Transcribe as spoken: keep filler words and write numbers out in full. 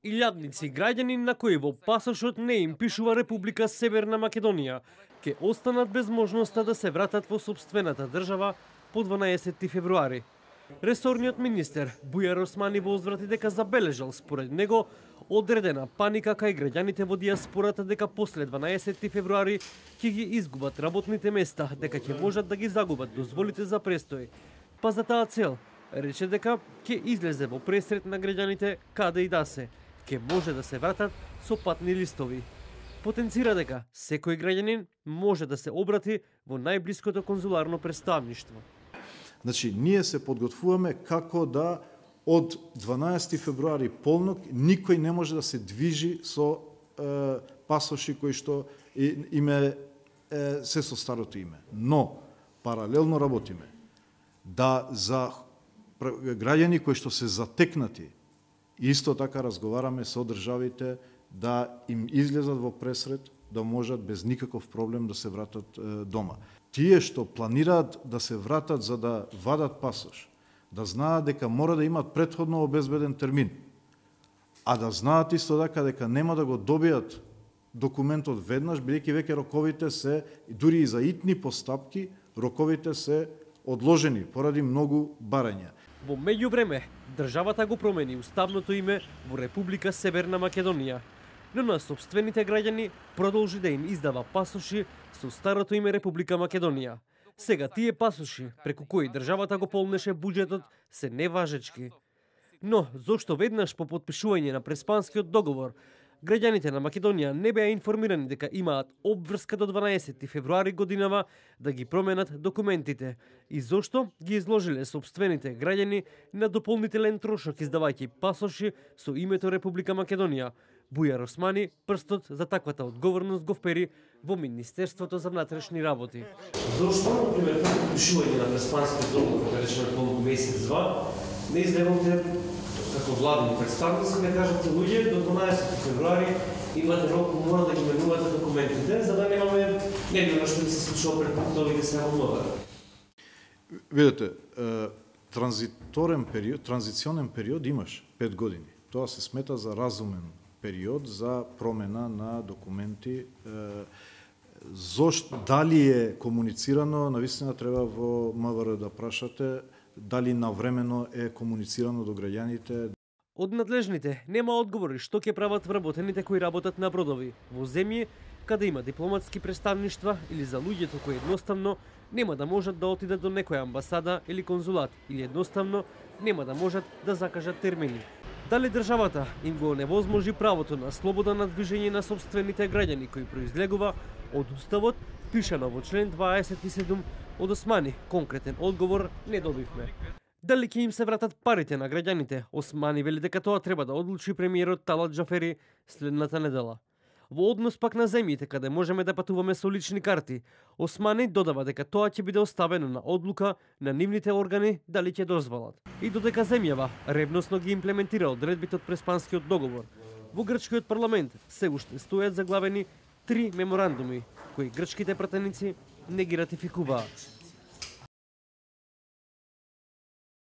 Илјадници граѓани на кои во пасошот не им пишува Република Северна Македонија ќе останат без можноста да се вратат во сопствената држава по дванаесетти февруари. Ресорниот министер Бујар Османи возврати дека забележал според него одредена паника кај граѓаните во дијаспората дека после дванаесетти февруари ќе ги изгубат работните места, дека ќе можат да ги загубат дозволите за престој. Па за таа цел рече дека ќе излезе во пресрет на граѓаните каде и да се, ќе може да се вратат со патни листови. Потенцира дека секој граѓанин може да се обрати во најблиското конзуларно представништво. Значи, ние се подготвуваме како да од дванаесетти февруари полнок никој не може да се движи со е, пасоши кои што име е, се со старото име. Но паралелно работиме да за граѓани кои што се затекнати, исто така разговараме со државите да им излезат во пресрет, да можат без никаков проблем да се вратат е, дома. Тие што планираат да се вратат за да вадат пасош, да знаат дека мора да имат претходно обезбеден термин, а да знаат исто така дека нема да го добијат документот веднаш, бидејќи веќе роковите се, дури и за итни постапки, роковите се одложени поради многу барања. Во меѓувреме, државата го промени уставното име во Република Северна Македонија, но на сопствените граѓани продолжи да им издава пасоши со старото име Република Македонија. Сега тие пасоши, преку кои државата го полнеше буџетот, се неважечки. Но, зошто веднаш по потпишување на Преспанскиот договор, граѓаните на Македонија не беа информирани дека имаат обврска до дванаесетти февруари годинава да ги променат документите и зошто ги изложиле сопствените граѓани на дополнителен трошок издавајќи пасоши со името Република Македонија. Бујар Османи прстот за таквата одговорност го впери во Министерството за внатрешни работи. Зошто, например, по потпишување на Преспанскиот договор, кога речеме по месец-два, не излегнате како владени представници, не кажете луѓе до дванаесетти февруари имате рок, мора да ги менувате документите, за да немаме небилно што ни се случува пред пунктови да се намалуваат. Видете, транзиторен период, транзиционен период имаш пет години. Тоа се смета за разумен период за промена на документи. Зошто, дали е комуницирано, навистина треба во МВР да прашате, дали навремено е комуницирано до граѓаните. Од надлежните нема одговори што ќе прават вработените кои работат на бродови во земји каде има дипломатски представништва или за луѓето кои едноставно нема да можат да отидат до некоја амбасада или конзулат или едноставно нема да можат да закажат термини. Дали државата им го невозможи правото на слобода на движење на сопствените граѓани кои произлегува од уставот, пишано во член дваесет и седум од Османи, конкретен одговор не добивме. Дали ќе им се вратат парите на граѓаните? Османи вели дека тоа треба да одлучи премиерот Талат Џафери следната недела. Во однос пак на земјите каде можеме да патуваме со лични карти, Османи додава дека тоа ќе биде оставено на одлука на нивните органи дали ќе дозволат. И додека земјава ревносно ги имплементира одредбите од Преспанскиот договор, во грчкиот парламент се уште стојат заглавени три меморандуми кои грчките пратеници не ги ратификуваат.